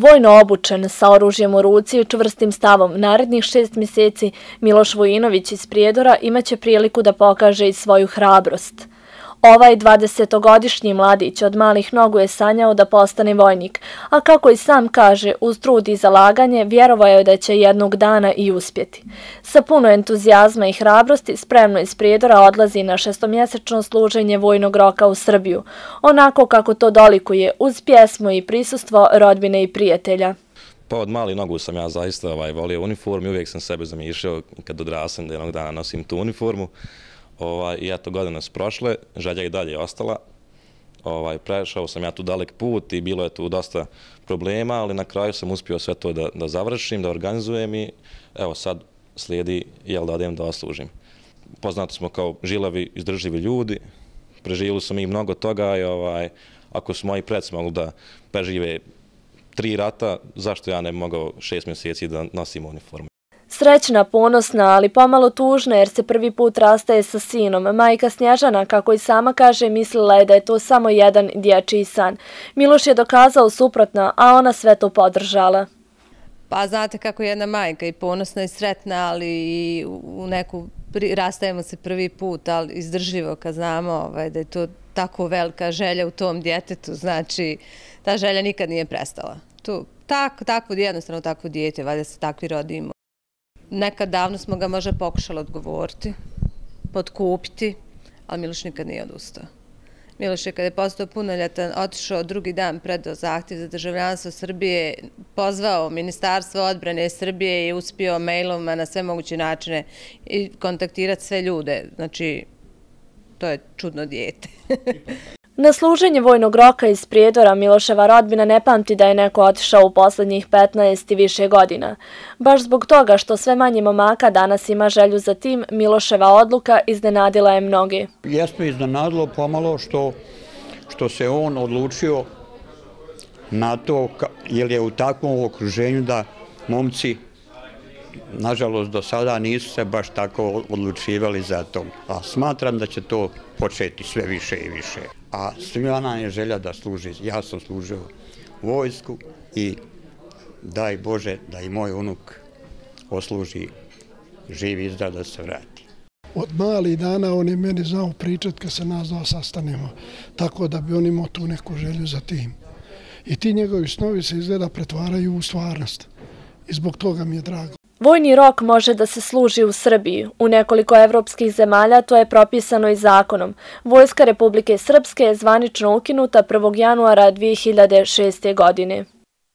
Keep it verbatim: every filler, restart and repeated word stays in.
Vojno obučen, sa oružjem u ruci i čvrstim stavom, narednih šest mjeseci Miloš Vujinović iz Prijedora imaće priliku da pokaže i svoju hrabrost. Ovaj dvadesetogodišnji mladić od malih nogu je sanjao da postane vojnik, a kako i sam kaže, uz trud i zalaganje, vjerovao je da će jednog dana i uspjeti. Sa puno entuzijazma i hrabrosti spremno iz Prijedora odlazi na šestomjesečno služenje vojnog roka u Srbiju, onako kako to dolikuje, uz pjesmu i prisustvo rodbine i prijatelja. Pa od malih nogu sam ja zaista ovaj, volio uniformu i uvijek sam sebe zamišljao kad odrasem da jednog dana nosim tu uniformu. Ovaj, I eto, godine su prošle, želja i dalje je ostala. Ovaj, prešao sam ja tu dalek put i bilo je tu dosta problema, ali na kraju sam uspio sve to da, da završim, da organizujem i evo sad slijedi jel da odem da oslužim. Poznati smo kao žilavi, izdržljivi ljudi, preživjeli su mi mnogo toga i ovaj, ako su moji preci mogli da prežive tri rata, zašto ja ne bi mogao šest mjeseci da nosim uniformu? Srećna, ponosna, ali pomalo tužna jer se prvi put rastaje sa sinom. Majka Snježana, kako i sama kaže, mislila je da je to samo jedan dječji san. Miloš je dokazao suprotno, a ona sve to podržala. Pa znate kako je jedna majka i ponosna i sretna, ali i u neku, rastajemo se prvi put, ali izdržljivo kad znamo ovaj, da je to tako velika želja u tom djetetu, znači ta želja nikad nije prestala. Tu, tak, takvo, jednostavno takvo dijete, valjda se takvi rodimo. Nekad davno smo ga možda pokušali odgovoriti, potkupiti, ali Miloš nikad nije odustao. Miloš je kada je postao punoljetan, otišao drugi dan, predao zahtjev za državljanstvo Srbije, pozvao Ministarstvo odbrane Srbije i uspio mailom na sve moguće načine i kontaktirati sve ljude. Znači, to je čudno dijete. Na služenje vojnog roka iz Prijedora Miloševa rodbina ne pamti da je neko otišao u posljednjih petnaest i više godina. Baš zbog toga što sve manje momaka danas ima želju za tim, Miloševa odluka iznenadila je mnogi. Jeste iznenadilo pomalo što, što se on odlučio na to, jer je u takvom okruženju da momci, nažalost, do sada nisu se baš tako odlučivali za to. A smatram da će to početi sve više i više. A svima nam je želja da služi. Ja sam služio vojsku i daj Bože da i moj unuk osluži živ i zdrav da se vrati. Od malih dana on je meni znao pričati kad se nas dva sastanemo, tako da bi on imao tu neku želju za tim. I ti njegovi snovi se izgleda pretvaraju u stvarnost i zbog toga mi je drago. Vojni rok može da se služi u Srbiji. U nekoliko evropskih zemalja to je propisano i zakonom. Vojska Republike Srpske je zvanično ukinuta prvog januara dvije hiljade šeste. godine.